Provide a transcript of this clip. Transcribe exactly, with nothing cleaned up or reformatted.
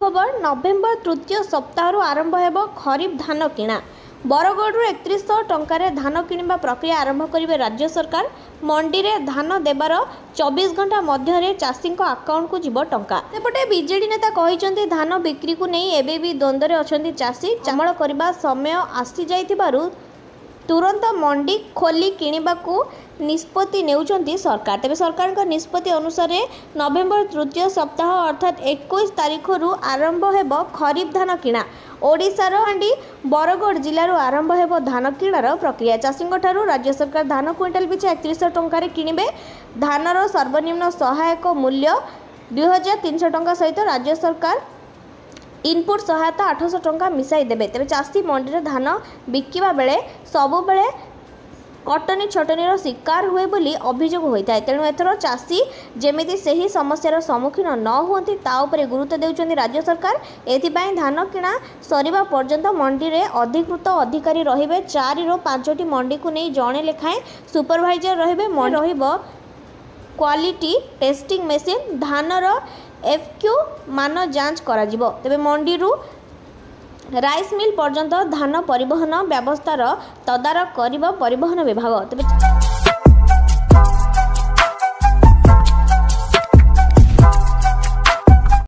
ଖବର, ନଭେମ୍ବର ତୃତୀୟ ସପ୍ତାହରୁ ଆରମ୍ଭ ହେବ ଖରିଫ ଧାନ କିଣା। ବରଗଡ଼ରୁ ଏକତିରିଶଶହ ଟଙ୍କାରେ ଧାନ କିଣିବା ପ୍ରକ୍ରିୟା ଆରମ୍ଭ କରିବେ ରାଜ୍ୟ ସରକାର। ମଣ୍ଡିରେ ଧାନ ଦେବାର ଚବିଶ ଘଣ୍ଟା ମଧ୍ୟରେ ଚାଷୀଙ୍କ ଆକାଉଣ୍ଟକୁ ଯିବ ଟଙ୍କା। ସେପଟେ ବିଜେଡି ନେତା କହିଛନ୍ତି, ଧାନ ବିକ୍ରିକୁ ନେଇ ଏବେ ବି ଦ୍ୱନ୍ଦ୍ୱରେ ଅଛନ୍ତି ଚାଷୀ। ଅମଳ କରିବା ସମୟ ଆସିଯାଇଥିବାରୁ ତୁରନ୍ତ ମଣ୍ଡି ଖୋଲି କିଣିବାକୁ ନିଷ୍ପତ୍ତି ନେଉଛନ୍ତି ସରକାର। ତେବେ ସରକାରଙ୍କ ନିଷ୍ପତ୍ତି ଅନୁସାରେ ନଭେମ୍ବର ତୃତୀୟ ସପ୍ତାହ ଅର୍ଥାତ୍ ଏକୋଇଶ ତାରିଖରୁ ଆରମ୍ଭ ହେବ ଖରିଫ ଧାନ କିଣା। ଓଡ଼ିଶାର ମଣ୍ଡି ବରଗଡ଼ ଜିଲ୍ଲାରୁ ଆରମ୍ଭ ହେବ ଧାନ କିଣାର ପ୍ରକ୍ରିୟା। ଚାଷୀଙ୍କଠାରୁ ରାଜ୍ୟ ସରକାର ଧାନ କୁଇଣ୍ଟାଲ ପିଛା ଏକତିରିଶଶହ ଟଙ୍କାରେ କିଣିବେ। ଧାନର ସର୍ବନିମ୍ନ ସହାୟକ ମୂଲ୍ୟ ଦୁଇ ହଜାର ତିନିଶହ ଟଙ୍କା ସହିତ ରାଜ୍ୟ ସରକାର ଇନପୁଟ୍ ସହାୟତା ଆଠଶହ ଟଙ୍କା ମିଶାଇ ଦେବେ। ତେବେ ଚାଷୀ ମଣ୍ଡିରେ ଧାନ ବିକିବା ବେଳେ ସବୁବେଳେ କଟନୀ ଛଟନୀର ଶିକାର ହୁଏ ବୋଲି ଅଭିଯୋଗ ହୋଇଥାଏ। ତେଣୁ ଏଥର ଚାଷୀ ଯେମିତି ସେହି ସମସ୍ୟାର ସମ୍ମୁଖୀନ ନ ହୁଅନ୍ତି, ତା ଉପରେ ଗୁରୁତ୍ୱ ଦେଉଛନ୍ତି ରାଜ୍ୟ ସରକାର। ଏଥିପାଇଁ ଧାନ କିଣା ସରିବା ପର୍ଯ୍ୟନ୍ତ ମଣ୍ଡିରେ ଅଧିକୃତ ଅଧିକାରୀ ରହିବେ। ଚାରିରୁ ପାଞ୍ଚଟି ମଣ୍ଡିକୁ ନେଇ ଜଣେ ଲେଖାଏଁ ସୁପରଭାଇଜର ରହିବେ। ରହିବ କ୍ୱାଲିଟି ଟେଷ୍ଟିଂ ମେସିନ୍। ଧାନର ଏଫ୍କ୍ୟୁ ମାନ ଯାଞ୍ଚ କରାଯିବ। ତେବେ ମଣ୍ଡିରୁ ରାଇସ୍ ମିଲ୍ ପର୍ଯ୍ୟନ୍ତ ଧାନ ପରିବହନ ବ୍ୟବସ୍ଥାର ତଦାରଖ କରିବ ପରିବହନ ବିଭାଗ। ତେବେ